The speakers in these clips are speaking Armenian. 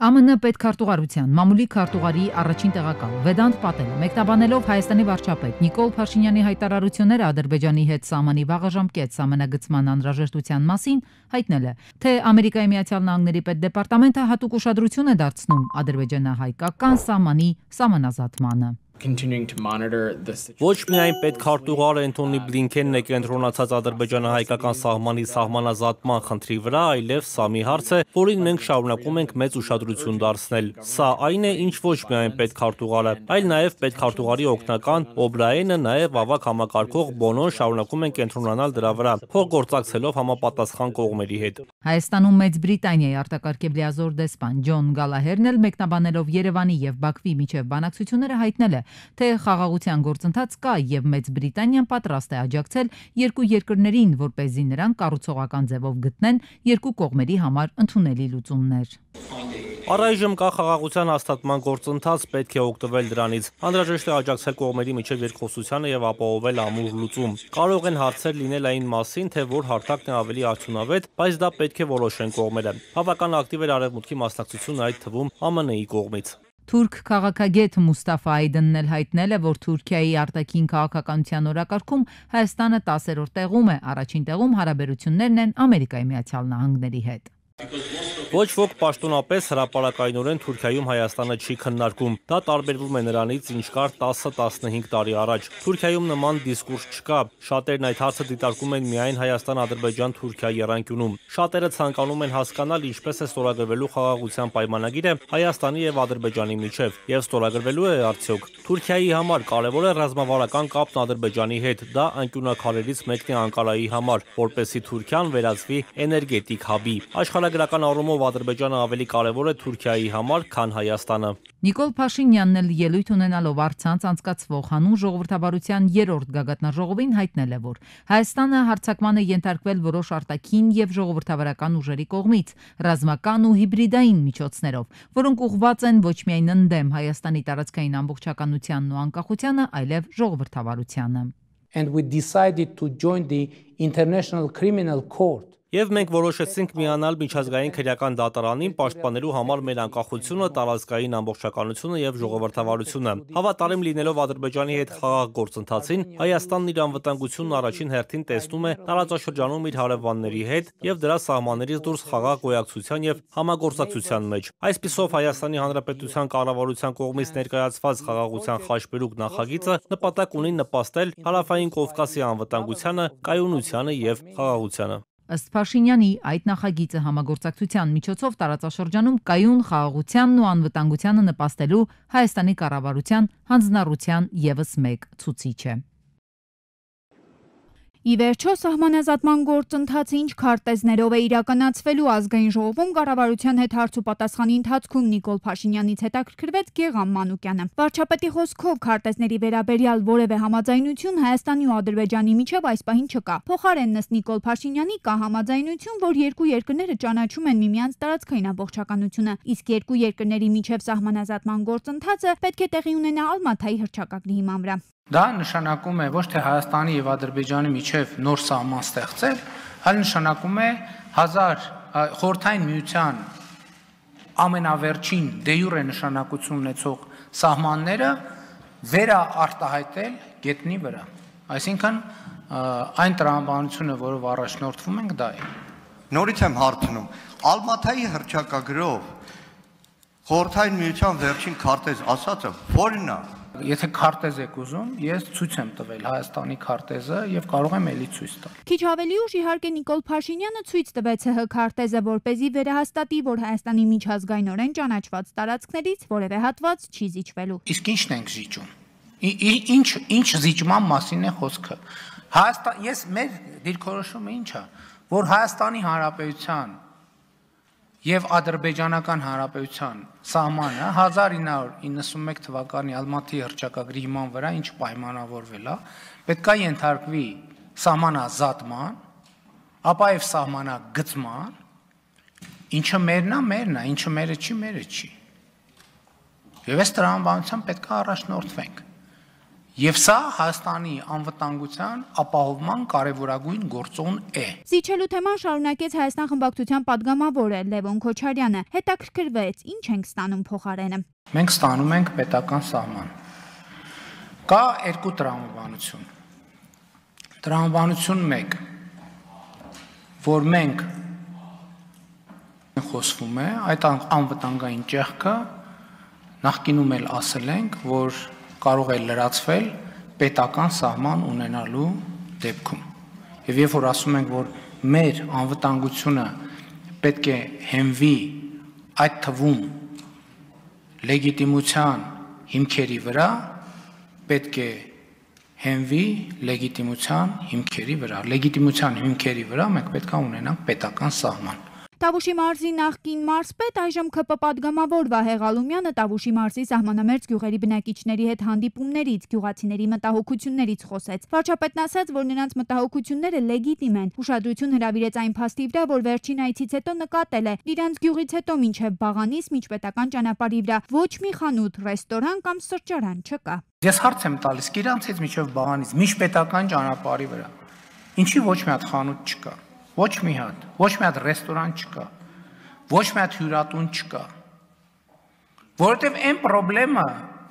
ԱՄՆ պետքարտուղարության մամուլի քարտուղարի առաջին տեղակալ Վեդանտ Պատելը մեկնաբանելով Հայաստանի վարչապետ Նիկոլ Փաշինյանի հայտարարությունները Ադրբեջանի հետ սահմանի վաղաժամկետ սահմանագծման անհրաժեշտության մասին հայտնել է, թե Ամերիկայի Միացյալ Նահանգների պետդեպարտամենտը հատուկ ուշադրություն է դարձնում ադրբեջանահայկական սահմանի սահմանազատմանը։ Ոչ միայն պետքարտուղար Էնթոնի Բլինքենն է կենտրոնացած ադրբեջանահայկական սահմանի սահմանազատման խնդրի վրա, այլև սա մի հարց է, որին մենք շարունակում ենք մեծ ուշադրություն դարձնել։ Սա այն է, ինչ ոչ միայն պետքարտուղարը, այլ նաև պետքարտուղարի օգնական Օբրայենը, նաև ավագ համակարգող Բոնոն շարունակում են կենտրոնանալ դրա վրա, փոխգործակցելով համապատասխան կողմերի հետ։ Հայաստանում Մեծ Բրիտանիայի արտակարգ լիազոր դեսպան Ջոն Գալահերն էլ մեկնաբանելով Երևանի եւ Բաքվի միջև բանակցությունները հայտնել է, թե խաղաղության գործընթաց կա եւ Մեծ Բրիտանիան պատրաստ է աջակցել երկու երկրներին, որպեսզի նրանք կառուցողական ձևով գտնեն երկու կողմերի համար ընդունելի լուծումներ։ Առայժմ կա խաղաղության հաստատման գործընթաց, պետք է օգտվել դրանից։ Անհրաժեշտ է աջակցել կողմերի միջև երկխոսությանը եւ ապահովել ամուր լուծում։ Կարող են հարցեր լինել այն մասին, թե որ հարթակն է ավելի արդյունավետ, բայց դա պետք է որոշեն կողմերը։ Բավական ակտիվ էր Արևմուտքի մասնակցությունը, այդ թվում ԱՄՆ-ի կողմից։ Թուրք քաղաքագետ Մուստաֆա Այդենն էլ հայտնել է, որ Թուրքիայի արտաքին քաղաքականության օրակարգում Հայաստանը 10-րդ տեղում է, առաջին տեղում հարաբերություններն են Ամերիկայի Միացյալ Նահանգների հետ։ Ոչ ոք պաշտոնապես հրապարակայնորեն Թուրքիայում Հայաստանը չի քննարկում։ Դա տարբերվում է նրանից, ինչ կար 10-15 տարի առաջ։ Թուրքիայում նման դիսկուրս չկա։ Շատերն այդ հարցը դիտարկում են միայն Հայաստան-Ադրբեջան-Թուրքիա եռանկյունում։ Շատերը ցանկանում են հասկանալ ինչպես է ստորագրվելու խաղաղության պայմանագիրը Հայաստանի եւ Ադրբեջանի միջև, եւ ստորագրվելու է արդյոք։ Թուրքիայի համար կարևոր է ռազմավարական կապն Ադրբեջանի հետ։ Դա անկյունակարերից մեկն է Անկարայի համար, որպեսզի Թուրքիան վերածվի էներգետիկ հաբի։ Աշխարհագրական առումով Ադրբեջանը ավելի կարևոր է Թուրքիայի համար, քան Հայաստանը։ Նիկոլ Փաշինյանն էլ ելույթ ունենալով առցանց անցկացվող հանուն ժողովրդավարության 3-րդ գագաթնաժողովին հայտնել է, որ Հայաստանը հարձակման է ենթարկվել որոշ արտաքին եւ ժողովրդավարական ուժերի կողմից, ռազմական ու հիբրիդային միջոցներով, որոնք ուղղված են ոչ միայն ընդդեմ Հայաստանի տարածքային ամբողջականությանն ու անկախությանը, այլև ժողովրդավարությանը։ And we decided to join the International Criminal Court. Եվ մենք որոշեցինք միանալ միջազգային քրեական դատարանին պաշտպանելու համար մեր անկախությունը, տարածքային ամբողջականությունը եւ ժողովրդավարությունը։ Հավատարիմ լինելով Ադրբեջանի հետ խաղաղ գործընթացին, Հայաստանն իր անվտանգությունն առաջին հերթին տեսնում է տարածաշրջանում իր հարևանների հետ եւ դրա սահմաններից դուրս խաղաղ գոյակցության եւ համագործակցության մեջ։ Այսպիսով Հայաստանի Հանրապետության կառավարության կողմից ներկայացված խաղաղության խաչմերուկ նախագիծը նպատակ ունի նպաստել Հարավային Կովկասի անվտանգությանը, կայունությանը եւ խաղաղությանը։ Ըստ Փաշինյանի, այդ նախագիծը համագործակցության միջոցով տարածաշրջանում կայուն խաղաղությանն ու անվտանգությանը նպաստելու Հայաստանի կառավարության հանձնառության ևս մեկ ցուցիչ է։ Ի վերջո սահմանազատման գործընթացը ինչ քարտեզներով է իրականացվելու ազգային ժողովում կառավարության հետ հարց ու պատասխանի ընթացքում Նիկոլ Փաշինյանից հետաքրքրվեց Գեգամ Մանուկյանը։ Վարչապետի խոսքով քարտեզների վերաբերյալ որևէ համաձայնություն Հայաստանի ու Ադրբեջանի միջև այս պահին չկա։ Փոխարենն ըստ Նիկոլ Փաշինյանի կա համաձայնություն, որ երկու երկրները ճանաչում են միմյանց տարածքային ամբողջականությունը, իսկ երկու երկրների միջև սահմանազատման գործընթացը պետք է տեղի ունենա Ալմաթայի հռչակագրի հիման վրա։ Դա նշանակում է ոչ թե Հայաստանի եւ Ադրբեջանի միջև նոր սահման ստեղծել, այլ նշանակում է Խորհրդային Միության ամենավերջին դե յուրե նշանակություն ունեցող սահմանները վերաարտահայտել գետնի վրա։ Այսինքն այն տրամաբանությունը, որով առաջնորդվում ենք, դա է։ Նորից եմ հարցնում, Ալմաթայի հռչակագրով Խորհրդային Միության վերջին քարտեզ ասածը որն է։ Եթե քարտեզ եք ուզում, ես ցույց եմ տվել Հայաստանի քարտեզը եւ կարող եմ ելի ցույց տալ։ Քիչ ավելի ուշ իհարկե Նիկոլ Փաշինյանը ցույց տվեց ՀՀ քարտեզը, որպեսզի վերահաստատի, որ Հայաստանի միջազգայինորեն ճանաչված տարածքներից որևէ հատված չի զիջվելու։ Իսկ ի՞նչն ենք զիջում։ Ինչ զիջման մասին է խոսքը։ Ես մեր դիրքորոշումը ինչ է, որ Հայաստանի Հանրապետության եւ Ադրբեջանական Հանրապետության սահմանը 1991 թվականի Ալմաթի հռչակագրի հիման վրա ինչ պայմանավորվել է, պետք է ենթարկվի սահմանազատման, ապա եւ սահմանագծման, ինչը մերն է, ինչը մերը չի։ Եվ այս տրամաբանությամբ պետք է առաջնորդվենք։ Եվ սա Հայաստանի անվտանգության ապահովման կարևորագույն գործոն է։ Զիջելու թեման շարունակեց Հայաստան խմբակցության падգամավորը Լևոն Քոչարյանը, հետաքրքրվեց, ինչ ենք ստանում փոխարենը։ Մենք ստանում ենք պետական սահման։ Կա երկու տրամաբանություն։ Տրամաբանություն 1, որ մենք խոսվում է, այդ անվտանգային ճեղքը նախկինում էլ ասել ենք, որ կարող է լրացվել պետական սահման ունենալու դեպքում։ Եվ երբ որ ասում ենք, որ մեր անվտանգությունը պետք է հենվի այդ թվում լեգիտիմության հիմքերի վրա, պետք է հենվի լեգիտիմության հիմքերի վրա։ Լեգիտիմության հիմքերի վրա մենք պետք է ունենանք պետական սահման։ Տավուշի մարզի նախկին մարզպետ, այժմ ՔՊ падգամավոր Վահե Ղալումյանը Տավուշի մարզի սահմանամերձ գյուղերի բնակիչների հետ հանդիպումներից, գյուղացիների մտահոգություններից խոսեց։ Վարչապետն ասաց, որ նրանց մտահոգությունները լեգիտիմ են։ Ուշադրություն հրավիրեց այն փաստի վրա, որ վերջին այցից հետո նկատել է, իրանց գյուղից հետո մինչև Բաղանիս միջպետական ճանապարհի վրա ոչ մի խանութ, ռեստորան կամ սրճարան չկա։ Ես հարց եմ տալիս, իրանցից մինչև Բաղանիս միջպետական ճանապարհի վրա ինչի ոչ մի հատ խանութ չկա։ Ոչ մի հատ ռեստորան չկա, ոչ մի հատ հյուրատուն չկա, որովհետև այն պրոբլեմը,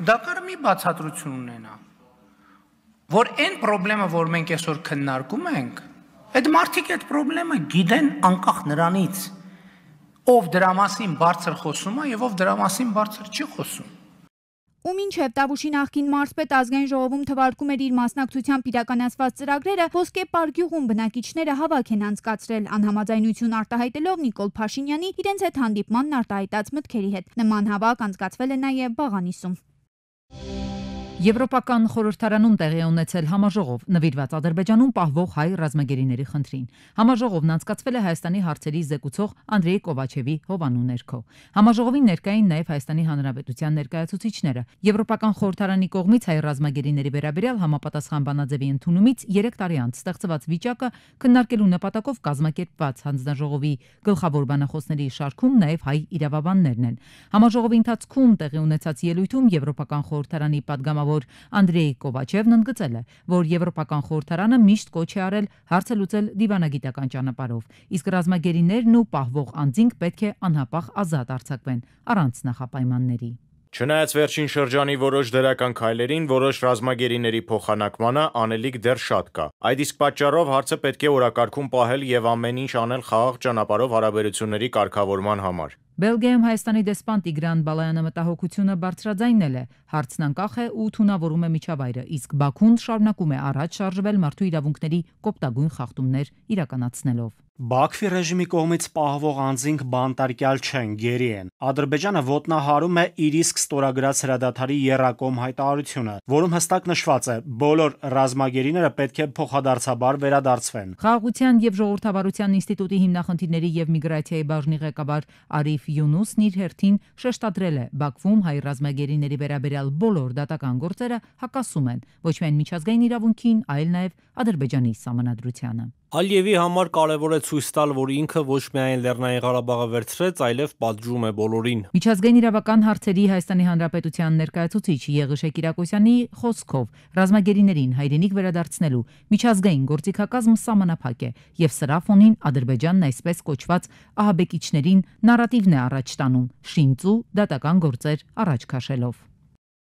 դա կարող մի բացատրություն ունենա, որ այն պրոբլեմը, որ մենք այսօր քննարկում ենք, այդ մարդիկ այդ պրոբլեմը գիտեն անկախ նրանից, ով դրա մասին բարձր խոսում է եւ ով դրա մասին բարձր չի խոսում։ Ու մինչև Տավուշի նախկին մարզպետ ազգային ժողովում թվարկում էր իր մասնակցությամբ իրականացված ծրագրերը, Ոսկե Պարգյուղում բնակիչները հավաք են անցկացրել անհամաձայնություն արտահայտելով Նիկոլ Փաշինյանի իրենց հետ հանդիպմանն արտահայտած մտքերի հետ։ Նման հավաք անցկացվել է նաև Բաղանիսում։ Եվրոպական խորհրդարանում տեղի ունեցել համաժողով նվիրված Ադրբեջանում պահվող հայ ռազմագերիների խնդրին։ Համաժողովն անցկացվել է Հայաստանի հարցերի զեկուցող Անդրեյ Կովաչևի հովանու ներքո։ Համաժողովին ներկային նաև Հայաստանի Հանրապետության ներկայացուցիչները։ Եվրոպական խորհրդարանի կողմից հայ ռազմագերիների վերաբերյալ համապատասխան բանաձևի ընդունումից 3 տարի անց ստեղծված վիճակը քննարկելու նպատակով կազմակերպված հանձնաժողովի գլխավոր բանախոսների շարքում նաև հայ իրավաբաններն են։ Համաժողովի ընթացքում տեղի ունեցած ելույթում Եվրոպական խորհրդարանի падգամավոր Անդրեյ Կովաչևն ընդգծել է, որ Եվրոպական խորհրդարանը միշտ կոչ է արել հարցը լուծել դիվանագիտական ճանապարհով, իսկ ռազմագերիներն ու պահվող անձինք պետք է անհապաղ ազատ արձակվեն առանց նախապայմանների։ Չնայած վերջին շրջանի որոշ դրական քայլերին, որոշ ռազմագերիների փոխանակմանը անելիք դեռ շատ կա։ Այդ իսկ պատճառով հարցը պետք է օրակարգում պահել եւ ամեն ինչ անել խաղաղ ճանապարհով հարաբերությունների կարգավորման համար։ Բելգիայում Հայաստանի դեսպան Տիգրան Բալայանը մտահոգությունը բարձրաձայնել է, հարցն անկախ է ու թունավորում է միջավայրը, իսկ Բաքուն շարունակում է առաջ շարժվել մարդու իրավունքների կոպտագույն խախտումներ իրականացնելով։ Բաքվի ռեժիմի կողմից պահվող անձինք բանտարկյալ չեն, գերի են։ Ադրբեջանը ոտնահարում է իր իսկ ստորագրած հրադադարի եռակողմ հայտարարությունը, որում հստակ նշված է՝ բոլոր ռազմագերիները պետք է փոխադարձաբար վերադարձվեն։ Խաղաղության եւ ժողովրդավարության ինստիտուտի հիմնախնդիրների եւ միգրացիայի բաժնի ղեկավար Արիֆ Յունուսն իր հերթին շեշտադրել է՝ Բաքվում հայ ռազմագերիների վերաբերյալ բոլոր դատական գործերը հակասում են ոչ միայն միջազգային իրավունքին, այլ նաեւ Ադրբեջանի սահմանադրությանը։ Ալիևի համար կարևոր է ցույց տալ, որ ինքը ոչ միայն Լեռնային Ղարաբաղը վերցրեց, այլև պատժում է բոլորին։ Միջազգային իրավական հարցերի Հայաստանի Հանրապետության ներկայացուցիչ Եղիշե Կիրակոսյանի խոսքով ռազմագերիներին հայրենիք վերադարձնելու միջազգային գործիքակազմ սահմանափակ է եւ սրա ֆոնին Ադրբեջանն այսպես կոչված ահաբեկիչներին նարատիվն է առաջ տանում, շինծու դատական գործեր առաջ քաշելով։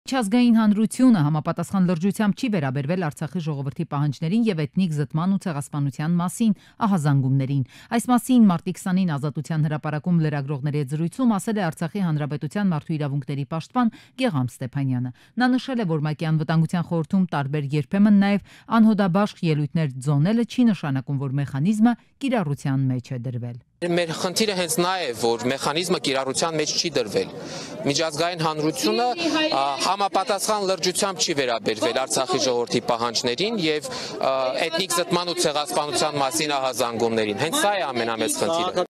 Միջազգային հանրությունը համապատասխան լրջությամբ չի վերաբերվել Արցախի ժողովրդի պահանջներին եւ էթնիկ զտման ու ցեղասպանության մասին ահազանգումներին։ Այս մասին մարտի 20-ին Ազատության հրապարակում լրագրողների հետ զրույցում ասել է Արցախի Հանրապետության մարդու իրավունքների պաշտպան Գեգամ Ստեփանյանը։ Նա նշել է, որ ՄԱԿ-ի անվտանգության խորհրդում տարբեր երբեմն նաեւ անհոդաբաշխ ելույթներ ձոնելը չի նշանակում, որ մեխանիզմը կիրառության մեջ է դրվել։ Մեր խնդիրը հենց նա է, որ մեխանիզմը կիրառության մեջ չի դրվել։ Միջազգային հանրությունը համապատասխան լրջությամբ չի վերաբերվել Արցախի ժողովրդի պահանջներին եւ էթնիկ զտման ու ցեղասպանության մասին ահազանգումներին։ Հենց սա է ամենամեծ խնդիրը։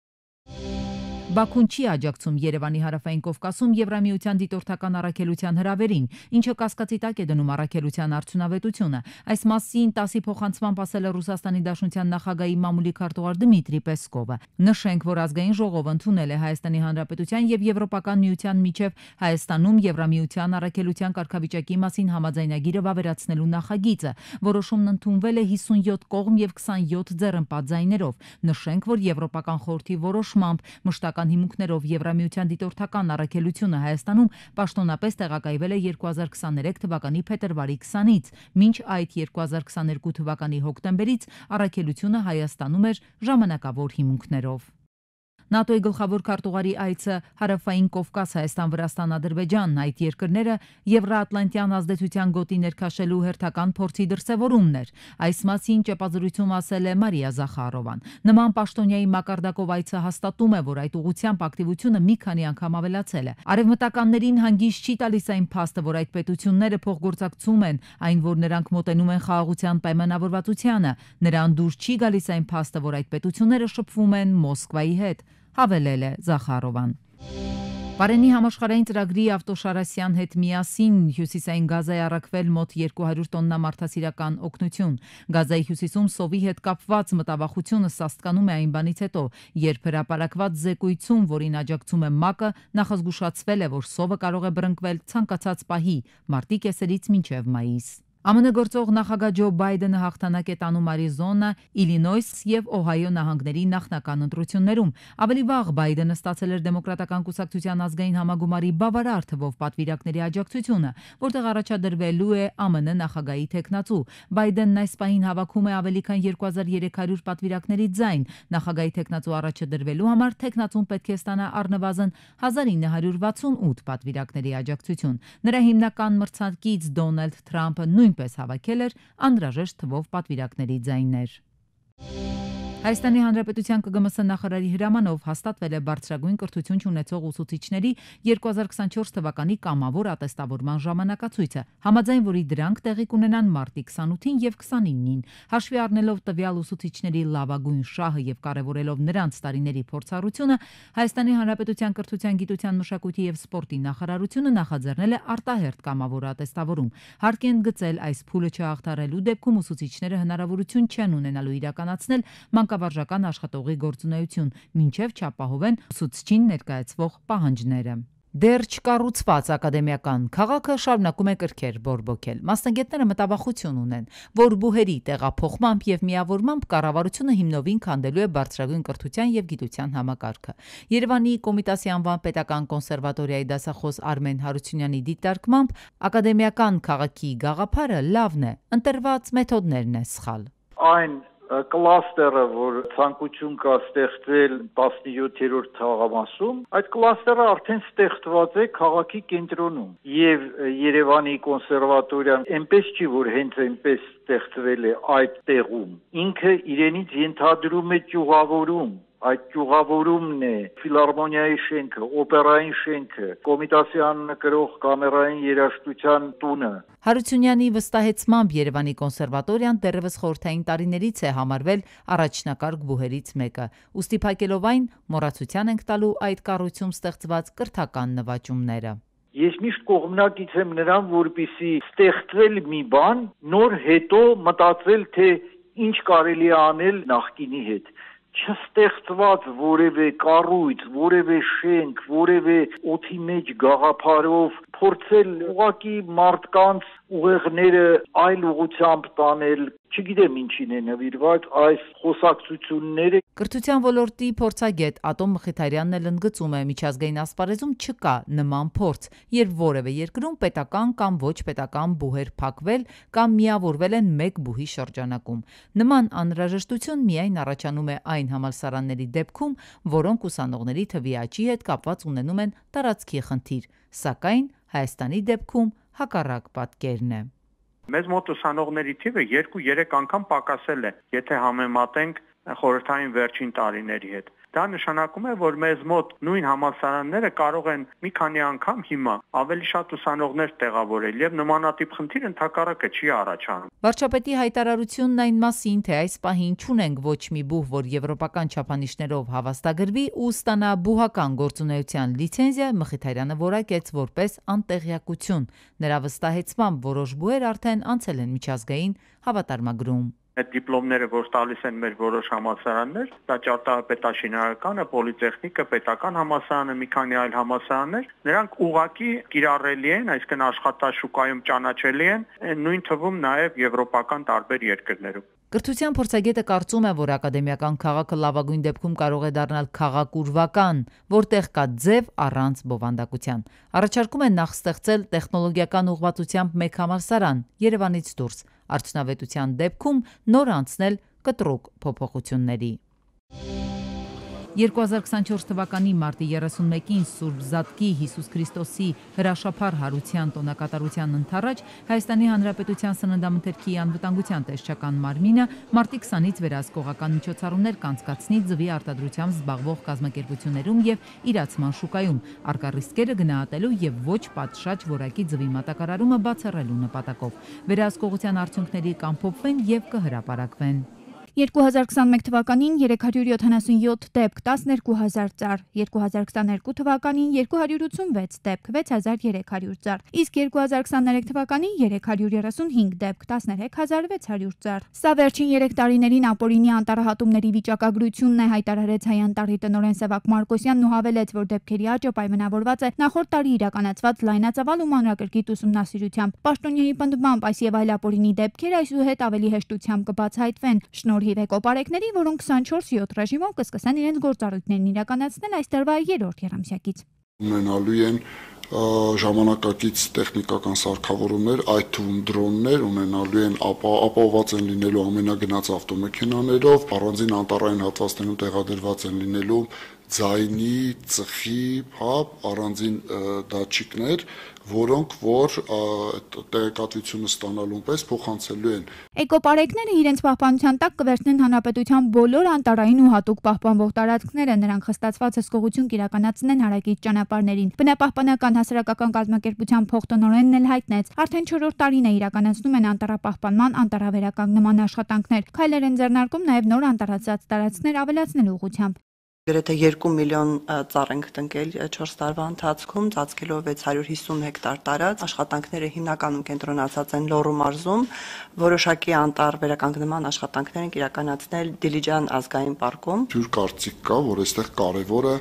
Բաքուն չի աջակցում Երևանի հարավային Կովկասում Եվրամիության դիտորդական առաքելության հրավերին, ինչը կասկածի տակ է դնում առաքելության արդյունավետությունը։ Այս մասին ՏԱՍ-ի փոխանցմամբ ասել է Ռուսաստանի Դաշնության նախագահի մամուլի քարտուղար Դմիտրի Պեսկովը։ Նշենք, որ ազգային ժողովը ընդունել է Հայաստանի Հանրապետության եւ Եվրոպական միության միջև Հայաստանում Եվրամիության առաքելության կարգավիճակի մասին համաձայնագիրը վավերացնելու նախագիծը։ Որոշումն ընդունվել է 57 կողմ եւ 27 ձեռնպատ ձայներով։ Նշենք, որ Եվրոպական խորհրդի որոշմամբ մշտական հիմունքներով Եվրամիության դիտորդական առաքելությունը Հայաստանում պաշտոնապես տեղակայվել է 2023 թվականի փետրվարի 20-ից, մինչ այդ 2022 թվականի հոկտեմբերից առաքելությունը Հայաստանում էր ժամանակավոր հիմունքներով։ ՆԱՏՕ-ի գլխավոր քարտուղարի այցը Հարավային Կովկաս, Հայաստան, Վրաստան, Ադրբեջան, այդ երկրները Եվրաատլանտյան ազդեցության գոտի ներքաշելու հերթական փորձի դրսևորումն էր։ Այս մասին ճեպազրույցում ասել է Մարիա Զախարովան։ Նման պաշտոնյայի մակարդակով այցը հաստատում է, որ այդ ուղղությամբ ակտիվությունը մի քանի անգամ ավելացել է։ Արևմտականներին հանգիստ չի տալիս այն փաստը, որ այդ պետությունները փոխգործակցում են, այն որ նրանք մոտենում են խաղաղության պայմանավորվածությանը։ Նրան դուր չի գալիս այն փաստը, որ այդ պետությունները շփվում են Մոսկվայի հետ, հավելել է Զախարովան։ Պարենի համաշխարհային ծրագրի Ավտոշարասյան հետ միասին հյուսիսային Գազայի առաքվել մոտ 200 տոննա մարդասիրական օգնություն։ Գազայի հյուսիսում սովի հետ կապված մտավախությունը սաստկանում է այն բանից հետո, երբ հրապարակված զեկույցում, որին աջակցում է ՄԱԿ-ը, նախազգուշացվել է, որ սովը կարող է բռնկվել ցանկացած պահի՝ մարտի կեսերից մինչև մայիս։ ԱՄՆ գործող նախագահ Ջո Բայդենը հաղթանակ է տանում Արիզոնա, Իլինոյս եւ Օհայո նահանգների նախնական ընտրություններում։ Ավելի վաղ Բայդենը ստացել էր Դեմոկրատական կուսակցության ազգային համագումարի բավարար թվով պատվիրակների աջակցությունը, որտեղ առաջադրվելու է ԱՄՆ նախագահի թեկնածու։ Բայդենն այս պահին հավաքում է ավելի քան 2300 պատվիրակների ձայն։ Նախագահի թեկնածու առաջադրվելու համար թեկնածուն պետք է ստանա առնվազն 1968 պատվիրակների աջակցություն։ Նրա հիմնական մրցակից Դոնալդ Թրամփը նույնպես հավաքել էր անհրաժեշտ թվով պատվիրակների ձայներ։ Հայաստանի Հանրապետության ԿԳՄՍ նախարարի հրամանով հաստատվել է բարձրագույն կրթություն չունեցող ուսուցիչների 2024 թվականի կամավոր ատեստավորման ժամանակացույցը, համաձայն որի դրանք տեղի կունենան մարտի 28-ին եւ 29-ին։ Հաշվի առնելով տվյալ ուսուցիչների լավագույն շահը եւ կարեւորելով նրանց տարիների փորձառությունը, Հայաստանի Հանրապետության կրթության, գիտության, մշակույթի եւ սպորտի նախարարությունը նախաձեռնել է արտահերթ կամավոր ատեստավորում։ Հարկ են գծել այս փուլը չհաղթարելու դեպքում ուսուցիչները հնարավորություն չեն ունենալու իրականացնել մանկավարժական աշխատողի գործունեություն, մինչև չապահովեն ուսուցչին ներկայացվող պահանջները։ Դեռ չկառուցված ակադեմիական քաղաքը շարունակում է կրքեր բորբոքել։ Մասնագետները մտավախություն ունեն, որ բուհերի տեղափոխմամբ եւ միավորմամբ կառավարությունը հիմնովին քանդելու է բարձրագույն կրթության եւ գիտության համակարգը։ Երևանի Կոմիտասի անվան պետական կոնսերվատորիայի դասախոս Արմեն Հարությունյանի դիտարկմամբ ակադեմիական քաղաքի գաղափարը լավն է, ընտրված մեթոդներն է սխալ։ Այն կլաստերը, որ ցանկություն կա ստեղծել 17-րդ թաղամասում, այդ կլաստերը արդեն ստեղծված է քաղաքի կենտրոնում եւ Երևանի կոնսերվատորիան այնպես չի, որ հենց այնպես ստեղծվել է այդ տեղում։ Ինքը իրենից ենթադրում է ճյուղավորում, այդ ճյուղավորումն է ֆիլհարմոնիայի շենքը, օպերային շենքը, Կոմիտասի աննկրող կամերային երաժշտության տունը։ Հարությունյանի վստահեցմամբ Երևանի կոնսերվատորիան դեռևս խորհրդային տարիներից է համարվել առաջնակարգ բուհերից մեկը, ուստի փակելով այն մոռացության ենք տալու այդ կառույցում ստեղծված կրթական նվաճումները։ Ես միշտ կողմնակից եմ նրան, որպեսզի ստեղծվել մի բան, նոր հետո մտածել, թե ինչ կարելի է անել նախկինի հետ։ Չստեղծված որևէ կառույց, որևէ շենք, որևէ օդի մեջ գաղափարով փորձել ուղղակի մարդկանց ուղեղները այլ ուղղությամբ տանել, չգիտեմ ինչին է նվիրված այս խոսակցությունները։ Կրթության ոլորտի փորձագետ Ատոմ Մխիթարյանն էլ ընդգծում է, միջազգային ասպարեզում չկա նման փորձ, երբ որևէ երկրում պետական կամ ոչ պետական բուհեր փակվել կամ միավորվել են մեկ բուհի շրջանակում։ Նման անհրաժեշտություն միայն առաջանում է այն համալսարանների դեպքում, որոնք ուսանողների թվի աճի հետ կապված ունենում են տարածքի խնդիր, սակայն Հայաստանի դեպքում հակառակ պատկերն է։ Մեզ մոտ ուսանողների թիվը 2-3 անգամ պակասել է, եթե համեմատենք խորհրդային վերջին տարիների հետ։ Դա նշանակում է, որ մեզ մոտ նույն համալսարանները կարող են մի քանի անգամ հիմա ավելի շատ ուսանողներ տեղավորել եւ նմանատիպ խնդիր ընդհակառակը չի առաջանում։ Վարչապետի հայտարարությունն այն մասին, թե այս պահին չունենք ոչ մի բուհ, որ եվրոպական չափանիշներով հավաստագրվի ու ստանա բուհական գործունեության լիցենզիա, Մխիթարյանը որակեց որպես անտեղյակություն։ Նրա վստահեցմամբ որոշ բուհեր արդեն անցել են միջազգային հավատարմագրում։ Այդ դիպլոմները, որ տալիս են մեր որոշ համալսարաններ, դա ճարտարապետաշինարարականը, պոլիտեխնիկը, պետական համալսարանը, մի քանի այլ համալսարաններ, նրանք ուղղակի կիրառելի են, այսինքն աշխատաշուկայում ճանաչելի են, նույն թվում նաև եվրոպական տարբեր երկրներում։ Կրթության փորձագետը կարծում է, որ ակադեմիական քաղաքը լավագույն դեպքում կարող է դառնալ քաղաքուրվական, որտեղ կա ձև առանց բովանդակության։ Առաջարկում է նախ ստեղծել տեխնոլոգիական ուղղվածությամբ մեկ համալսարան Երևանից դուրս, արդյունավետության դեպքում նոր անցնել կտրուկ փոփոխությունների։ 2024 թվականի մարտի 31-ին Սուրբ Զատկի Հիսուս Քրիստոսի հրաշափառ հարության տոնակատարության ընթառաջ Հայաստանի Հանրապետության Սննդամթերքի անվտանգության տեսչական մարմինը մարտի 20-ից վերահսկողական միջոցառումներ կանցկացնի ձվի արտադրությամբ զբաղվող կազմակերպություններում եւ իրացման շուկայում, առկա ռիսկերը գնահատելու եւ ոչ պատշաճ որակի ձվի մատակարարումը բացառելու նպատակով։ Վերահսկողության արդյունքների կամփոփվեն եւ կհրապարակվեն։ 2021 թվականին 377 դեպք, 12000 ծառ, 2022 թվականին 286 դեպք, 6300 ծառ, իսկ 2023 թվականին 335 դեպք, 13600 ծառ։ Սա վերջին 3 տարիներին ապօրինի անտառահատումների վիճակագրությունն է, հայտարարեց Հայ Անտառի տնօրեն Սևակ Մարկոսյանն ու հավելեց, որ դեպքերի աճը պայմանավորված է նախորդ տարի իրականացված լայնածավալ ու մանրակրկիտ ուսումնասիրությամբ։ Պաշտոնյայի պնդմամբ այս եւ այլ ապօրինի դեպքեր այսուհետ ավելի հեշտությամբ կբացահայտվեն։ Շնորհիվ էկոպարեկների, որոնք 24/7 ռեժիմով կսկսեն իրենց գործառույթներն իրականացնել այս տարվա 3-րդ եռամսյակից։ Ունենալու են ժամանակակից տեխնիկական սարքավորումներ, այդ թվում դրոններ, ունենալու են ապահովված են լինելու ամենագնաց ավտոմեքենաներով, առանձին անտառային հատվածներում տեղադրված են լինելու ձայնի, ծխի, առանձին դատչիկներ, որոնք որ տեղեկատվությունը ստանալուն պես փոխանցելու են։ Էկոպարեկները իրենց պահպանության տակ կվերցնեն հանրապետության բոլոր անտառային ու հատուկ պահպանվող տարածքները, նրանք խստացված հսկողություն կիրականացնեն հարակից ճանապարհներին։ Բնապահպանական հասարակական կազմակերպության փոխտնօրենն էլ հայտնեց, արդեն 4-րդ տարին է իրականացնում են անտառապահպանման, անտառավերականգնման աշխատանքներ։ Քայլեր են ձեռնարկում նաև նոր անտառացած տարածքներ ավելացնելու ուղղությամբ։ Գրեթե 2 միլիոն ծառ ենք տնկել 4 տարվա ընթացքում, ծածկելով 650 հեկտար տարած, աշխատանքները հիմնականում կենտրոնացած են Լոռու մարզում, որոշակի անտառ վերականգնման աշխատանքներ ենք իրականացնել Դիլիջան ազգային պարկում։ Ջուր կարծիք կա, որ այստեղ կարևորը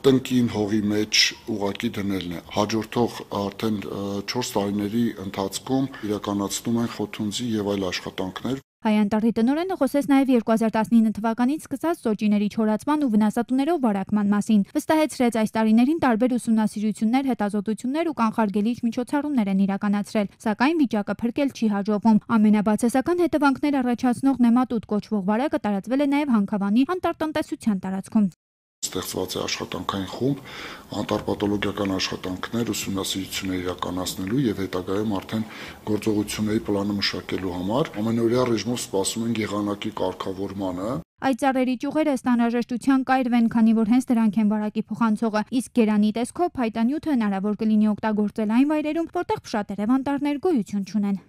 տնկին հողի մեջ ուղակի դնելն է։ Հաջորդող արդեն 4 տարիների ընթացքում իրականացնում են խոթունձի եւ այլ աշխատանքներ։ Հայ Անտառի տնօրենը խոսեց նաև 2019 թվականից սկսած սոճիների չորացման ու վնասատուներով վարակման մասին։ Վստահեցրեց, այս տարիներին տարբեր ուսումնասիրություններ, հետազոտություններ ու կանխարգելիչ միջոցառումներ են իրականացրել, սակայն վիճակը փրկել չի հաջողվում։ Ամենաբացասական հետևանքներ առաջացնող նեմատոդ կոչվող վարակը տարածվել է նաև Հանքավանի անտառտնտեսության տարածքում։ Ստեղծված է աշխատանքային խումբ, անտառպաթոլոգիական աշխատանքներ, ուսումնասիրություններ իրականացնելու եւ հետագայում արդեն գործողությունների պլանը մշակելու համար ամենօրյա ռեժիմով սպասում են եղանակի կարգավորմանը։ Այդ ծառերի ճյուղերը ըստ անհրաժեշտության կայրվեն, քանի որ հենց դրանք են վարակի փոխանցողը, իսկ գերանի տեսքով փայտանյութը հնարավոր կլինի օգտագործել այն վայրերում, որտեղ փշատերև անտառներ գոյություն չունեն։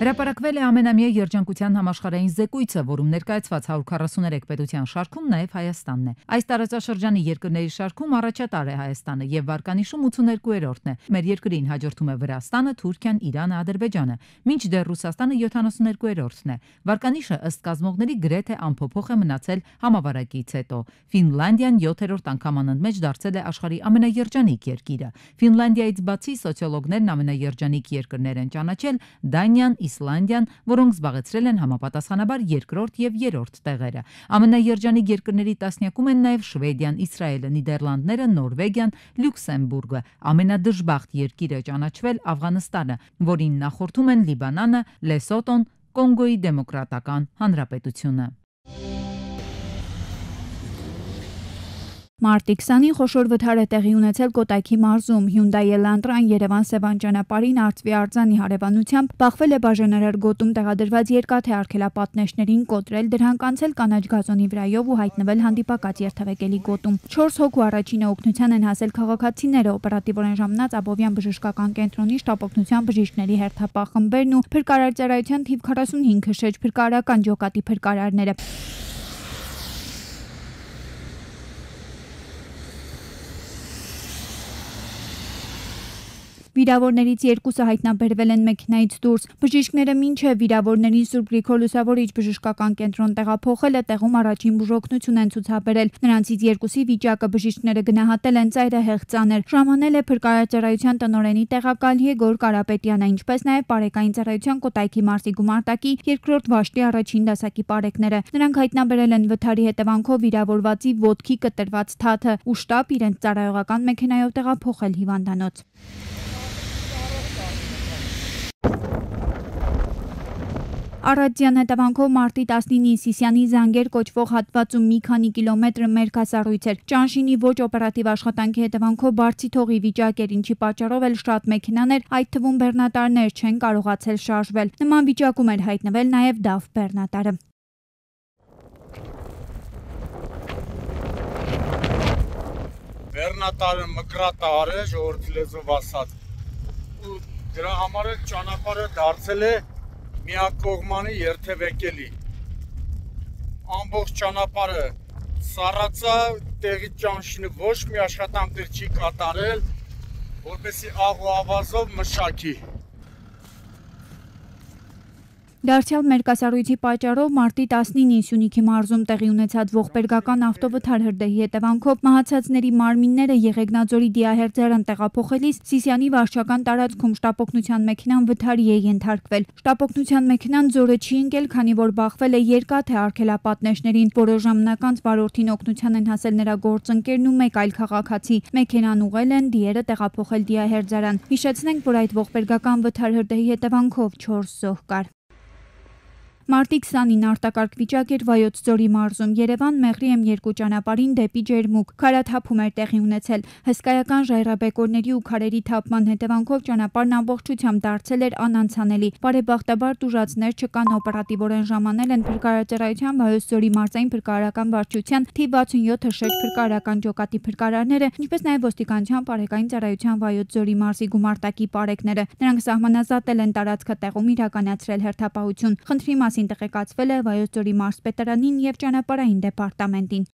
Հրապարակվել է ամենամյա երջանկության համաշխարհային զեկույցը, որում ներկայացված 143 պետության շարքում նաև Հայաստանն է։ Այս տարածաշրջանի երկրների շարքում առաջատար է Հայաստանը եւ վարկանիշում 82-րդն է։ Մեր երկրին հաջորդում է Վրաստանը, Թուրքիան, Իրանը, Ադրբեջանը, մինչդեռ Ռուսաստանը 72-րդն է։ Վարկանիշը ըստ կազմողների գրեթե անփոփոխ է մնացել համավարակից հետո։ Ֆինլանդիան 7-րդ անգամ անընդմեջ դարձել է աշխարհի ամենաերջանիկ երկիրը։ Ֆինլանդիայից բացի սոցիոլոգներն ամենաերջանիկ երկրներ են ճանաչել Դանիան, Իսլանդիան, որոնք զբաղեցրել են համապատասխանաբար երկրորդ եւ երրորդ տեղերը։ Ամենաերջանիկ երկրների տասնյակում են նաև Շվեդիան, Իսրայելը, Նիդերլանդները, Նորվեգիան, Լյուքսեմբուրգը։ Ամենադժբախտ երկիրը ճանաչվել Աֆղանստանը, որին նախորդում են Լիբանանը, Լեսոտոն, Կոնգոյի Դեմոկրատական Հանրապետությունը։ Մարտի 20-ին խոշոր վթար է տեղի ունեցել Կոտայքի մարզում։ Hyundai Elantra-ն Երևան-Սևան ճանապարհին Արծվի արձանի հարևանությամբ բախվել է բաժանարար գոտում տեղադրված երկաթե արգելապատնեշներին, կոտրել դրանք, անցել կանաչ գազոնի վրայով ու հայտնվել հանդիպակաց երթևեկելի գոտում։ 4 հոգու առաջինը օգնության են հասել քաղաքացիները, օպերատիվորեն ժամանած Աբովյան բժշկական կենտրոնի շտապօգնության բժիշկների հերթապահ խմբերն ու փրկարարծարայության թիվ 45 շեջ փրկարարական ջոկատի փրկարարները։ Վիրավորներից երկուսը հայտնաբերվել են մեքենայից դուրս։ Բժիշկները մինչև վիրավորներին Սուրբ Գրիգոր Լուսավորիչ բժշկական կենտրոն տեղափոխելը տեղում առաջին բուժօգնություն են ցուցաբերել։ Նրանցից երկուսի վիճակը բժիշկները գնահատել են ծայրահեղ ծանր։ Ժամանել է փրկարարծարայության տնօրենի տեղակալ Եգոր Կարապետյանը, ինչպես նաև Պարեկային ծառայության Կոտայքի մարզի գումարտակի 2-րդ վաշտի առաջին դասակի պարեկները։ Նրանք հայտնաբերել են վթարի հետևանքով վիրավորվածի ոտքի կտրված թաթը ու շտապ իրենց ծառայողական մեքենայով տեղափոխել հիվանդանոց։ Առատյան հետևանքով մարտի 19-ին Սիսիանի Զանգեր կոչվող հատվածում մի քանի կիլոմետր մերկասառույց էր։ Ճանշինի ոչ օպերատիվ աշխատանքի հետևանքով բարձի թողի վիճակ էր, ինչի պատճառով էլ շատ մեքենաներ, այդ թվում բեռնատարներ, չեն կարողացել շարժվել։ Նման վիճակում էր հայտնվել նաև DAF բեռնատարը։ Բեռնատարը մկրատար է, ժողովրդի լեզվով ասած, ու դրա համար էլ ճանապարհը դարձել է միակողմանի երթևեկելի։ Ամբողջ ճանապարհը սառացա, տեղի ճանշինը ոչ մի աշխատանքներ չի կատարել, որպեսզի աղ ու ավազով մշակի։ Դարձյալ մերկասառույցի պատճառով մարտի 19-ին Սյունիքի մարզում տեղի ունեցած ողբերգական ավտովթար հրդեհի հետևանքով մահացածների մարմինները Եղեգնաձորի դիահերձարան տեղափոխելիս Սիսիանի վարչական տարածքում շտապօգնության մեքենան վթարի է ենթարկվել։ Շտապօգնության մեքենան ձորը չի ընկել, քանի որ բախվել է երկաթե արգելապատնեշներին։ Որոշ ժամանակ անց վարորդին օգնության են հասել նրա գործընկերն ու մեկ այլ քաղաքացի։ Մեքենան ուղղել են դիերը տեղափոխել դիահերձարան։ Հիշեցնենք, որ այդ ողբերգական վթար հրդեհի հետևանքով 4 զոհ կար։ Մարտի 20-ին արտակարգ վիճակ էր Վայոց ձորի մարզում։ Երևան-Մեղրի M2 ճանապարհին դեպի Ջերմուկ քարաթափում էր տեղի ունեցել։ Հսկայական ժայռաբեկորների ու քարերի թափման հետևանքով ճանապարհն ամբողջությամբ դարձել էր անանցանելի։ Բարեբախտաբար տուժածներ չկան, օպերատիվորեն ժամանել են փրկարարծարայության Վայոց ձորի մարզային փրկարարական վարչության թիվ 67 շեջ փրկարարական ջոկատի փրկարարները, ինչպես նաև ոստիկանության Պարեկային ծառայության Վայոց ձորի մարզի գումարտակի պարեկները։ Նրանք սահմանազատել են տարածքը, տեղում իրականացրել հերթապահություն։ Խնդրի մասին տեղեկացվել է Վայոց ձորի մարզպետարանին եւ ճանապարհային դեպարտամենտին։